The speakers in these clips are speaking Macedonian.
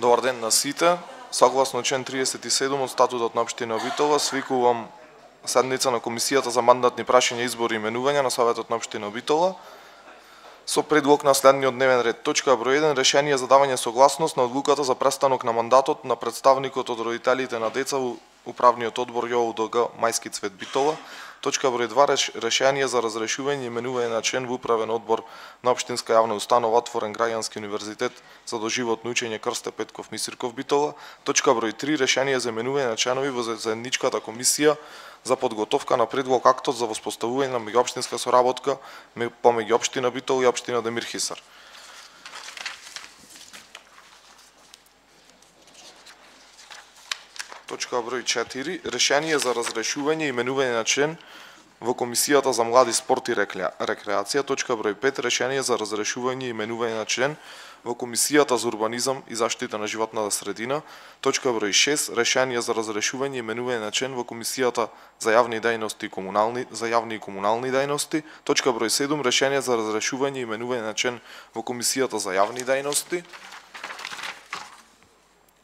Добар ден на сите. Согласно член 37 од статутот на општина Битола, свикувам седница на комисијата за мандатни прашања, избори и именувања на Советот на општина Битола со предлог на следниот дневен ред. Точка број 1. Решение за давање согласност на одлуката за престанок на мандатот на представникот од родителите на деца во управниот одбор ЈОУДГ Мајски Цвет Битола. Точка број 2. Решение за разрешување и именување на член во управен одбор на општинска јавна установа Отворен граѓански универзитет за доживотно учење Крсте Петков Мисирков Битола. Точка број 3. Решение за именување на членови во заедничката комисија за подготовка на предлог актот за воспоставување на меѓуопштинска соработка помеѓу општина Битола и општина Демир Хисар. Точка број 4. Решение за разрешување и именување на член во комисијата за млади, спорт и рекреација. Точка број 5. Решение за разрешување и именување на член во комисијата за урбанизам и заштита на животната средина. Точка број 6. Решение за разрешување и именување на член во комисијата за јавни дејности и комунални дејности. Точка број 7. Решение за разрешување и именување на член во комисијата за јавни дејности.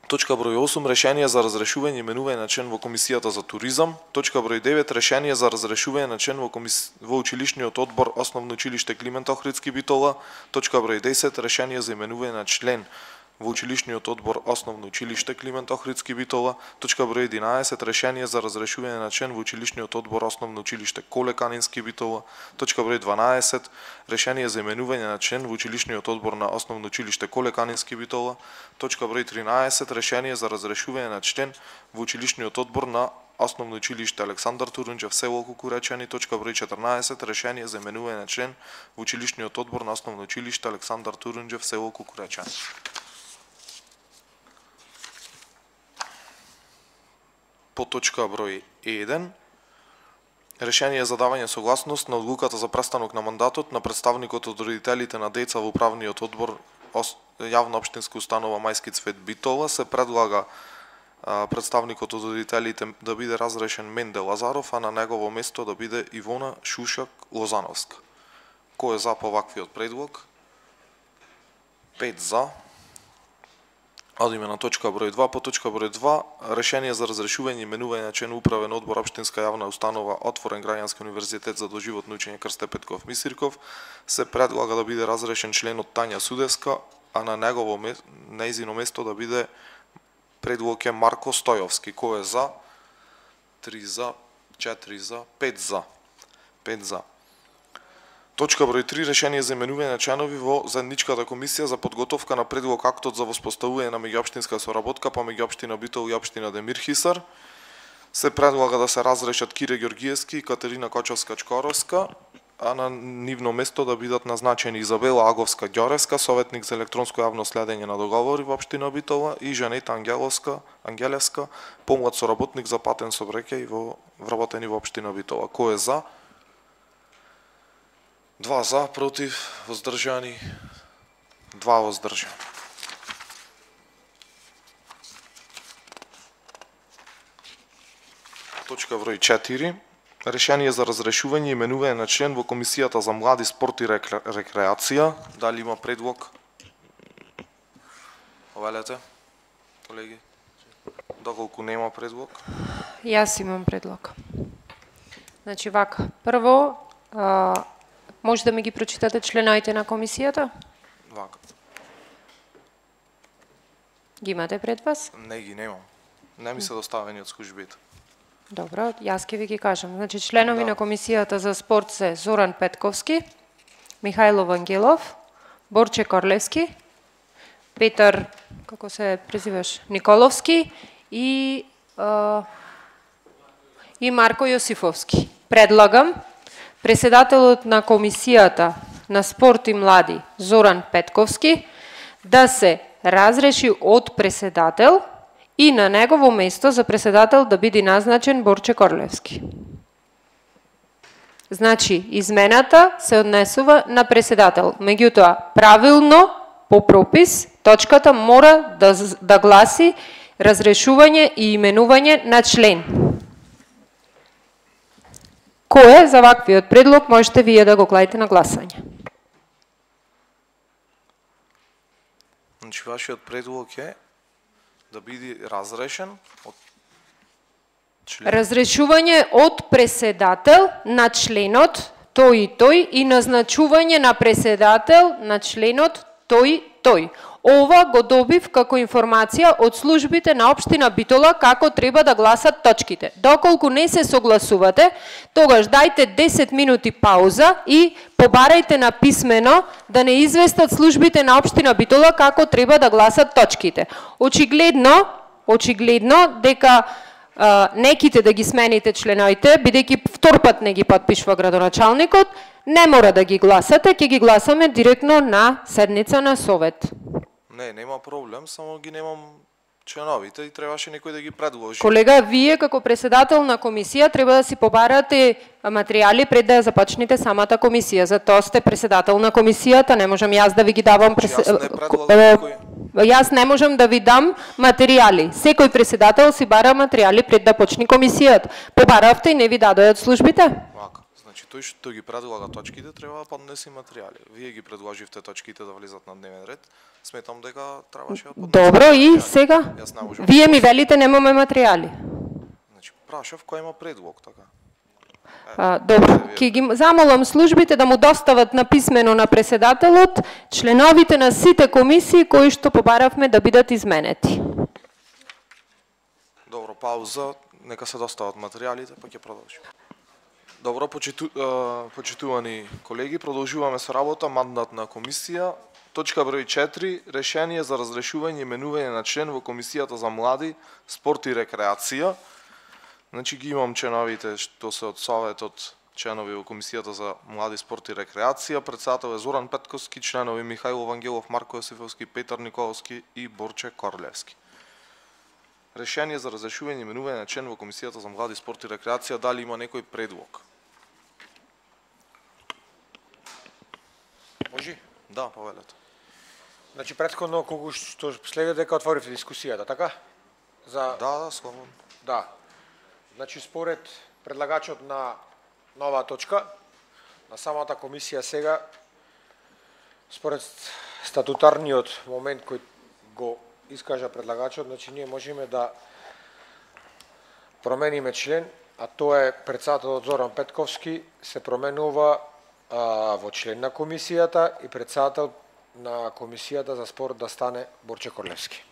Точка број 8. Решение за разрешување и именување на член во комисијата за туризам. Точка број 9. Решение за разрешување на член во училишниот одбор Основно училиште Климент Охридски Битола. Точка број 10. Решение за именување на член во училишниот одбор Основно училиште Климент Охридски Битола. Точка број 11. Решение за разрешување на член во училишниот одбор Основно училиште Коле Канински Битола. Точка број 12. Решение за именување на член во училишниот одбор на Основно училиште Коле Канински Битола. Точка број 13. Решение за разрешување на член во училишниот одбор на Основно училиште Александар Турунџев село Кукуречани. Точка број 14. Решение за именување на член во училишниот одбор на Основно училиште Александар Турунџев село Кукуречани. По точка број 1. Решение за давање согласност на одлуката за престанок на мандатот на представникот од родителите на деца во управниот одбор јавна општинска установа Мајски Цвет Битола. Се предлага представникот од родителите да биде разрешен Менде Лазаров, а на негово место да биде Ивона Шушак Лозановска. Кој е за по ваквиот предлог? 5 за. Одиме на точка број 2. По точка број 2. Решение за разрешување и именување на член управен одбор општинска јавна установа Отворен граѓански универзитет за доживотно учење Крсте Петков Мисирков. Се предлага да биде разрешен членот Тања Судевска, а на нејзино место да биде предлог е Марко Стојовски. Кој е за? 3 за, 4 за, 5 за. 5 за. Точка број 3. Решение за именување на членови во заедничката комисија за подготовка на предлог актот за воспоставување на меѓуопштинска соработка помеѓу општина Битола и општина Демир Хисар. Се предлага да се разрешат Кире Ѓоргиевски и Катерина Кочовска-Чкоровска, а на нивно место да бидат назначени Изабела Аговска-Ѓоревска, советник за електронско јавно следење на договори во општина Битола, и Жанета Ангелевска, помлад соработник за патен сообраќај вработени во општина Битола. Кој е за? 2 за, против, воздржани, 2 воздржани. Точка број 4. Решение за разрешување и именување на член во комисијата за млади, спорт и рекреација. Дали има предлог? Овелете, колеги. Доколку нема предлог? Јас имам предлог. Значи вака, прво може да ми ги прочитате членовите на комисијата? Вака. Ги имате пред вас? Не ги немам. Не ми се доставени од службите. Добро, јас ќе ви ги кажам. Значи членови на комисијата за спорт се Зоран Петковски, Михајло Вангелов, Борче Корлевски, Петар, како се презиваш, Николовски и Марко Јосифовски. Предлагам преседателот на комисијата на спорт и млади Зоран Петковски да се разреши од преседател и на негово место за преседател да биде назначен Борче Корлевски. Значи, измената се однесува на преседател. Меѓутоа, правилно, по пропис, точката мора да гласи разрешување и именување на член. Кој е за ваквиот предлог, можете вие да го клаите на гласање. Значи, вашиот предлог е да биде разрешен од Разрешување од преседател на членот тој и тој и назначување на преседател на членот тој и тој. Ова го добив како информација од службите на општина Битола како треба да гласат точките. Доколку не се согласувате, тогаш дајте 10 минути пауза и побарајте на писмено да не известат службите на општина Битола како треба да гласат точките. Очигледно дека неките да ги смените членоите, бидејќи втор пат не ги подпишува градоначалникот, не мора да ги гласате, ќе ги гласаме директно на седница на совет. Не, нема проблем, само ги немам членовите и требаше некој да ги предложи. Колега, вие како председател на комисија треба да си побарате материјали пред да ја започнете самата комисија. Затоа сте председател на комисијата, не можам јас да ви ги давам Јас не можам да ви дам материјали. Секој председател си бара материјали пред да почне комисијата. Побаравте и не ви дадојат службите? Вака. Значи тој што ги предлага точките треба да поднесе материјали. Вие ги предложивте точките да влизат на дневен ред. Сметам дека требаше да поднесе. Добро, и сега? Вие ми велите немаме материјали. Значи прашав кој има предлог, така. Добро, ќе ги замолам службите да му достават на писмено на преседателот членовите на сите комисии кои што побаравме да бидат изменети. Добро, пауза, нека се достават материјалите, па ќе продолжиме. Добро, почитувани колеги, продолжуваме со работа, мандат на комисија. Точка број 4, решение за разрешување и именување на член во комисијата за млади, спорт и рекреација. Значи ги имам членовите што се од советот, членови во комисијата за млади, спорт и рекреација. Председател е Зоран Петковски, членови Михаил Вангелов, Марко Јосифовски, Петар Николовски и Борче Корлевски. Решение за разрешување и именување на член во комисијата за млади, спорт и рекреација. Дали има некој предлог? Може? Да, повелете. Значи претходно кога што следи дека отворивте дискусијата, така? Да, слободно. Да. Значи според предлагачот на нова точка на самата комисија сега, според статутарниот момент кој го искажа предлагачот, значи ние можеме да промениме член, а тоа е председателот Зоран Петковски се променува во член на комисијата и председател на комисијата за спорт да стане Борче Корлевски.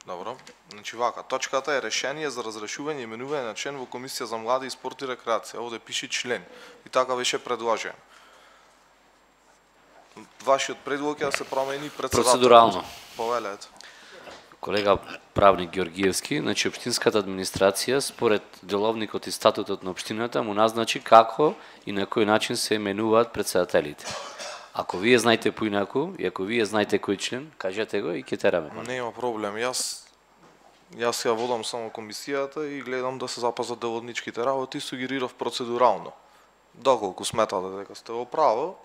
Добро. Значи вака, точката е решение за разрешување и именување на член во комисија за млади, спорт и рекреација. Овде пише член и така беше предложен. Вашиот предлог е да се промени председател. Процедурално. Повелете. Колега правник Георгиевски, значи општинската администрација според деловникот и статутот на општината му назначи како и на кој начин се именуваат председателите. Ако вие знаете поинаку и ако вие знаете кој член, кажете го и ќе тераме. Нема проблем. Јас ја водам само комисијата и гледам да се запазат деловничките работи и сугерирав процедурално. Доколку сметате дека сте во право,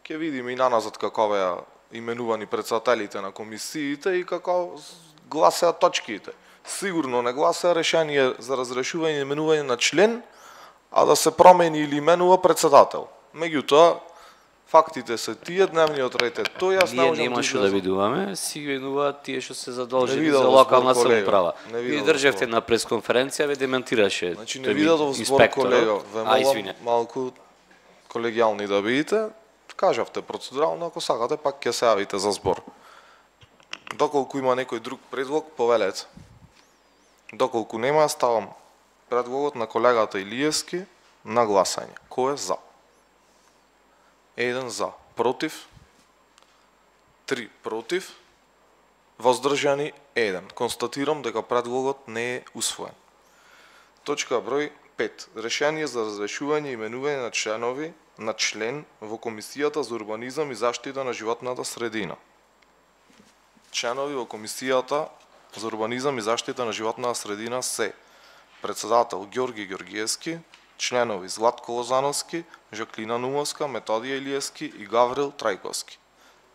ќе видиме и наназад како беа именувани председателите на комисиите и како гласеа точките. Сигурно не гласеа решение за разрешување и именување на член, а да се промени или именува председател. Меѓутоа, фактите се тие, дневниот ред е тој, јас Ние немаше да видуваме, си именуваат тие што се задолжени за локална самоуправа. Вие државте на пресконференција, ве дементираше. Значи не видов збор, колега, ве молам малку колегијални да бидете, кажавте процедурално, ако сакате пак ќе се јавите за збор. Доколку има некој друг предлог, повелете. Доколку нема, ставам предлогот на колегата Илиевски на гласање. Кој е за? 1 за, против, 3 против, воздржани 1. Констатирам дека предлогот не е усвоен. Точка број 5. Решение за разрешување и именување на членови на член во комисијата за урбанизам и заштита на животната средина. Членови во комисијата за урбанизам и заштита на животната средина се председател Георги Георгиевски, членови Златко Лозановски, Жаклина Нумовска, Методија Илиевски и Гаврил Трајковски.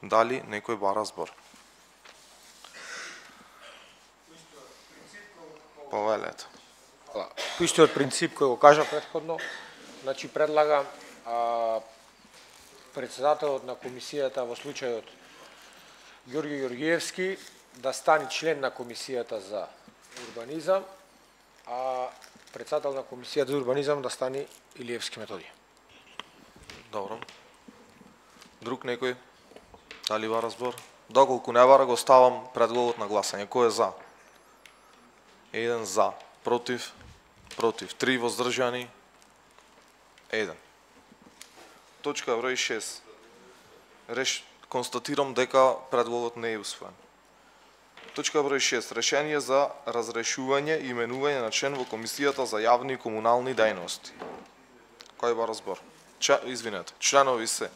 Дали некој бара збор? Повелете. По истиот принцип кој го кажа претходно, значи предлагам председателот на комисијата во случајот Ѓорги Ѓоргиевски да стане член на Комисијата за урбанизам, а председател на Комисијата за урбанизам да стане Илиевски Методија. Добро. Друг некој? Дали бара збор? Доколку не бара, го ставам предлогот на гласање. Кој е за? 1 за. Против? Против. 3 воздржани? 1. Точка број 6. Констатирам дека предлогот не е усвоен. Точка број 6. Решение за разрешување и именување на член во Комисијата за јавни и комунални дејности. Кој бара збор? Извинете. Членови се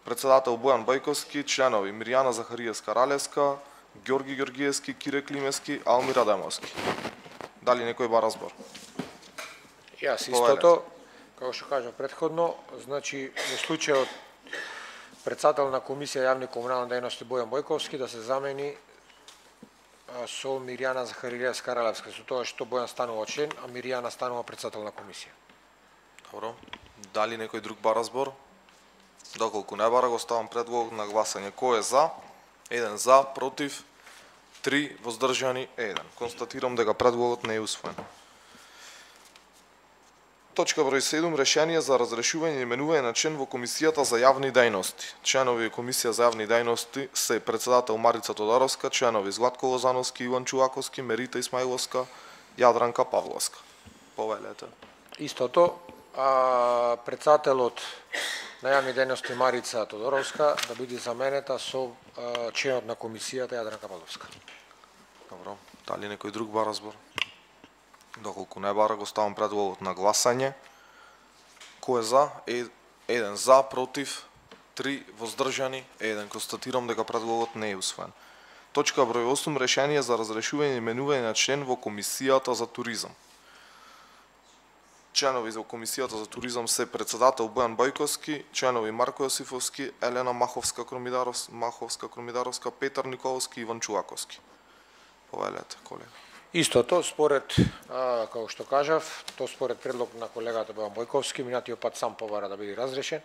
председател Бојан Бојковски, членови Мирјана Захариевска-Ралевска, Ѓорги Ѓоргиевски, Кире Климевски, Алмир Адамовски. Дали некој бара збор? Јас истото, како што кажав претходно, значи во случајот председател на Комисија јавни и комунални дејности Бојан Бојковски да се замени со Мирјана Захариевска-Ралевска, со тоа што Бојан станува член, а Мирјана станува председател на Комисија. Добро. Дали некој друг бара збор? Доколку не бара, го ставам предлог на гласање. Кој е за? 1 за, против, 3 воздржани, 1. Констатирам дека предлогот не е усвоен. Точка број 7. Решение за разрешување и именување на член во Комисијата за јавни дејности. Членови Комисија за јавни дејности се председател Марица Тодоровска, членови Златко Лозановски, Иван Чулаковски, Мерита Исмаиловска, Јадранка Павловска. Повелете. Истото, председателот на јавни дејности Марица Тодоровска да биде заменета со членот на Комисијата Јадранка Павловска. Добро. Дали некој друг бара збор? Доколку не бара, го ставам предлогот на гласање. Кој е за? 1 за, против, 3 воздржани, 1. Констатирам дека предлогот не е усвоен. Точка број 8. Решение за разрешување и именување на член во Комисијата за туризам. Членови за Комисијата за туризам се председател Бојан Бојковски, членови Марко Јосифовски, Елена Маховска-Кромидаровска, Петар Николовски и Иван Чулаковски. Повелете, колега. Истото, според, како што кажав, то според предлог на колегата Бојан Бојковски, минатиот пат сам побара да биде разрешен,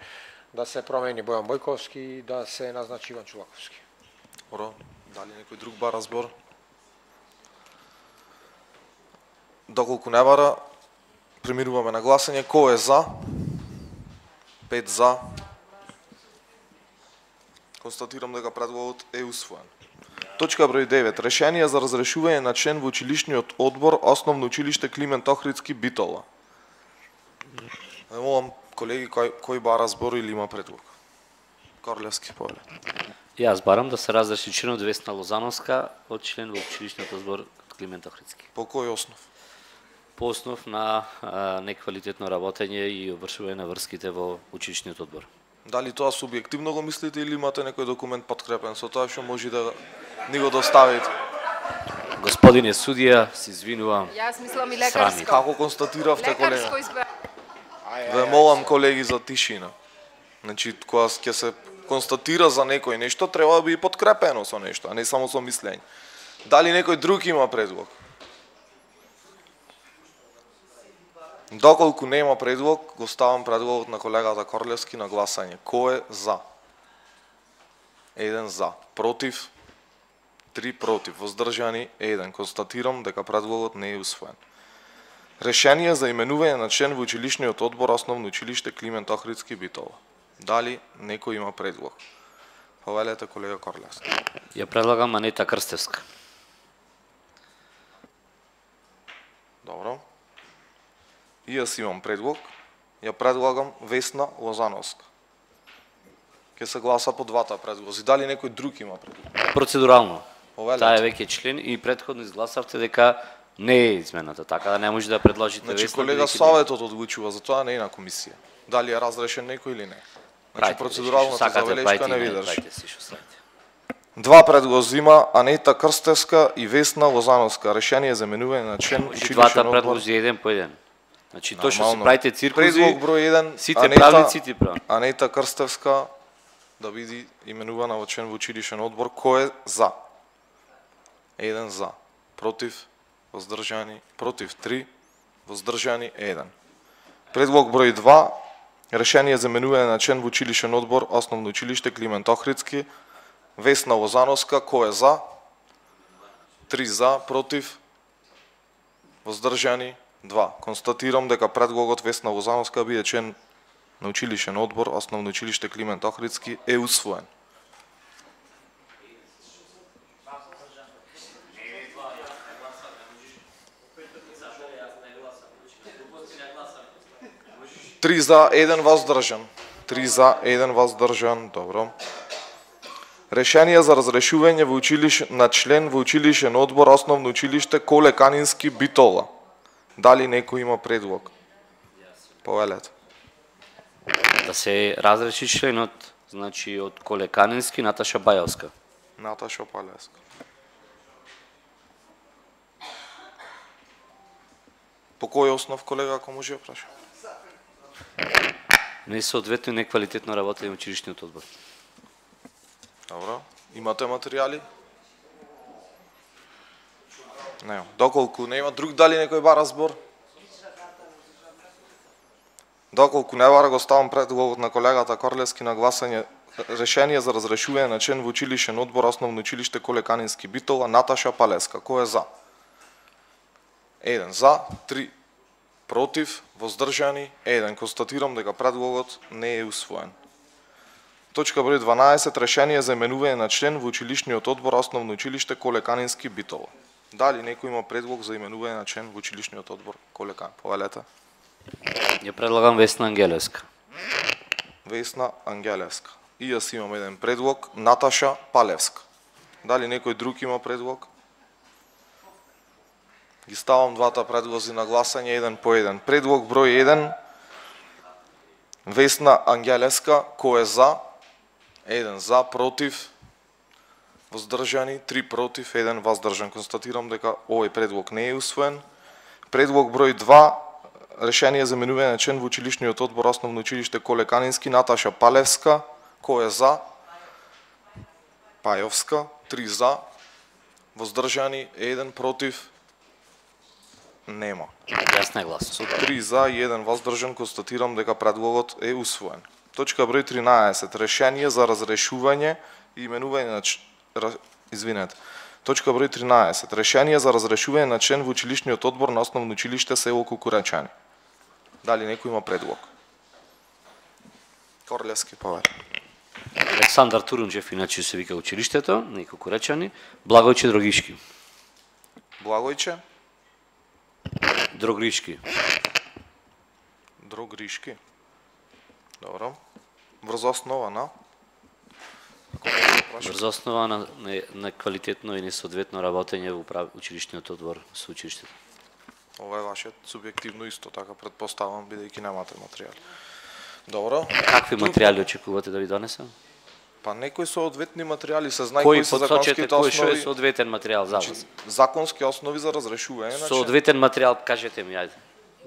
да се промени Бојан Бојковски и да се назначи Иван Чулаковски. Добро, дали некој друг бара збор? Доколку не бара, преминуваме на гласање. Кој е за? 5 за. Констатирам дека предлогот е усвоен. Точка број 9. Решение за разрешување на член во училишниот одбор Основно училиште Климент Охридски Битола. Молам колеги, кој бара збор или има предлог? Корлевски, повелете. Јас барам да се разреши членот Весна Лозановска од член во училишниот одбор Климент Охридски. По кој основ? По основ на неквалитетно работење и обвршување на врските во училишниот одбор. Дали тоа субјективно го мислите или имате некој документ подкрепен со тоа што може да ни го доставите? Господине судија, се извинувам. Јас мислам и Срами. лекарско. Како констатиравте, колега? Лекарско избра. Ве молам, колеги, за тишина. Значи, кога ќе се констатира за некој нешто, треба да биде подкрепено со нешто, а не само со мислење. Дали некој друг има предлог? Доколку нема предлог, го ставам предлогот на колегата Корлевски на гласање. Кој е за? 1 за. Против? 3 против. Воздржани? 1. Констатирам дека предлогот не е усвоен. Решение за именување на член во училишниот одбор Основно училиште Климент Охридски Битола. Дали некој има предлог? Повелете, колега Корлевски. Ја предлагам Анета Крстевска. Добро. И јас имам предлог. Ја предлагам Весна Лозановска. Ке се гласа по двата предлози. Дали некој друг има предлог? Процедурално. Повелете. Таа е веќе член и претходно изгласавте дека не е измената, така да не може да предложите Значи, Весна. колега, бидејќи Советот одлучува, за тоа не е на комисија. Дали е разрешен некој или не. Значи, процедуралната забелешка не ви држи. Два предлози има Анета Крстевска и Весна Лозановска. Решение за именување на член училишен Двата одбор. предлози еден по еден. Значи, тоа што се Нормално. правите циркузи, Предлог број 1, сите правници прави. Анета Крстевска да биде именувана во член во училишен одбор. Кој е за? 1 за. Против? Воздржани? Против 3. Воздржани 1. Предлог број 2. Решение за именување на член во училишен одбор Основно училиште Климент Охридски. Весна Лозановска, кој е за? 3 за, против, воздржани 2. Констатирам дека предлогот Весна Лозановска биде член на училишен одбор, Основно училиште Климент Охридски е усвоен. Три за, 1 воздржан. 3 за, 1 воздржан. Добро. Решение за разрешување на член во училишен одбор Основно училиште Коле Канински Битола. Дали некој има предлог? Повелете. Да се разреши членот, значи од Коле Канински Наташа Бајовска. Наташа Бајовска. По кој основ, колега, ако може да праша? Несоодветно и неквалитетно работење во училишниот одбор. Добро. Имате материјали? Не. Доколку не има друг, дали некој бара збор? Доколку не бара, го ставам предлогот на колегата Корлевски на гласање. Решение за разрешување на член во училишен одбор Основно училиште Коле Канински Битола Наташа Палеска. Кој е за? 1 за, 3 против, воздржани 1. Констатирам дека предлогот не е усвоен. Точка број 12. Решение за именување на член во училишниот одбор Основно училиште Коле Канински Битола. Дали некој има предлог за именување на член во училишниот одбор Коле Кан? Повелете. Ја предлагам Весна Ангелевска. Весна Ангелевска. И јас имам еден предлог, Наташа Палевска. Дали некој друг има предлог? Ги ставам двата предлози на гласање еден по еден. Предлог број 1. Весна Ангелевска, кој е за? 1 за, против, воздржани, 3 против, 1 воздржан. Констатирам дека овој предлог не е усвоен. Предлог број 2. Решение за именување на член во училишниот одбор Основно училиште Коле Канински Наташа Палевска. Кој е за? Пајовска, 3 за, воздржани, 1 против, нема. Јас не гласам. Со 3 за и 1 воздржан констатирам дека предлогот е усвоен. Точка број 13. Решение за разрешување и именување на Точка број 13. Решение за разрешување на член во училишниот одбор на Основно училиште село Кукуречани. Дали некој има предлог? Корлевски, повели. Александар Турунџев, иначе се вика училиштето, на Кукуречани. Благојче Дрогишки. Благојче Дрогришки. Дрогришки. Добро. Врз основа на? Врз основа на квалитетно и несоодветно работење во училишниот одбор со училиштето. Ова е вашиот субјективно исто, така предпоставам, бидејќи немате материјали. Добро. Какви материјали очекувате да ви донесам? Па некои соодветни материјали се знае кои се законските основи. Кој што е основи. соодветен материјал за вас? Законски основи за разрешување. Соодветен материјал, кажете ми, ајде.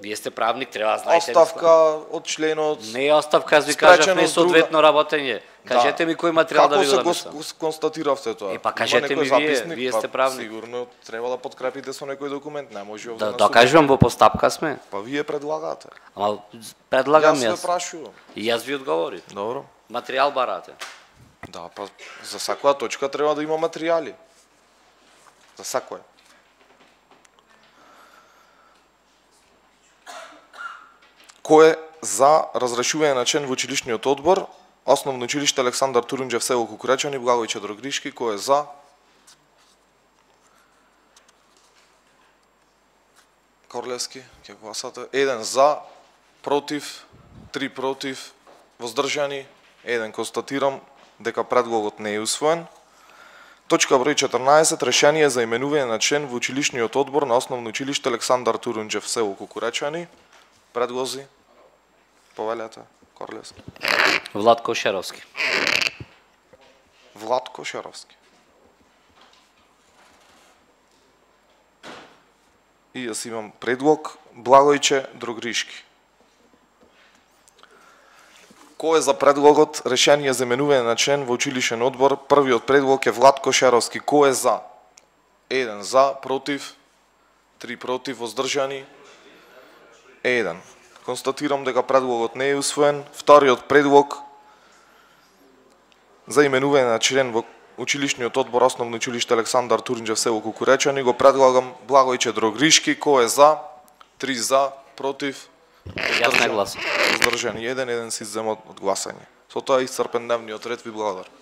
Вие сте правник, треба да знаете. Оставка од членот. Не е оставка, аз ви кажав, не соодветно работење. Кажете ми кој материјал да ви го донесам. Како се констатиравте тоа? Па кажете ми вие сте правник. Сигурно треба да подкрепите со некој документ, не може овде да кажувам во постапка сме. Па вие предлагате. Ама предлагам јас. Јас ве прашувам. И јас ви одговори. Добро. Материјал барате. Да, па за секоја точка треба да има материјали. За секоја. Кој е за разрешување на член во училишниот одбор Основно училиште Александар Турунџев село Кукуречани, Благојче Дрогришки, кој е за? Корлевски, ќе гласате. 1 за, против, 3 против, воздржани, 1. Констатирам дека предлогот не е усвоен. Точка број 14. Решение за именување на член во училишниот одбор на Основно училиште Александар Турунџев село Кукуречани. Предлози? Повелете, Корлевски. Владко Шеровски. Владко Шеровски. И јас имам предлог Благојче Дрогришки. Кој е за предлогот решение за именување на член во училишен одбор? Првиот предлог е Владко Шеровски. Кој е за? 1 за, против, 3 против, воздржани, 1. Констатирам дека предлогот не е усвоен. Вториот предлог за именување на член во училишниот одбор Основно училиште Александар Турнџев, село Кукуречани, го предлагам Благојче Дрогришки. Кој е за? 3 за, против? Јас не гласам. Здржани 1 се иззема од гласање. Со тоа исцрпен дневниот ред, ви благодарам.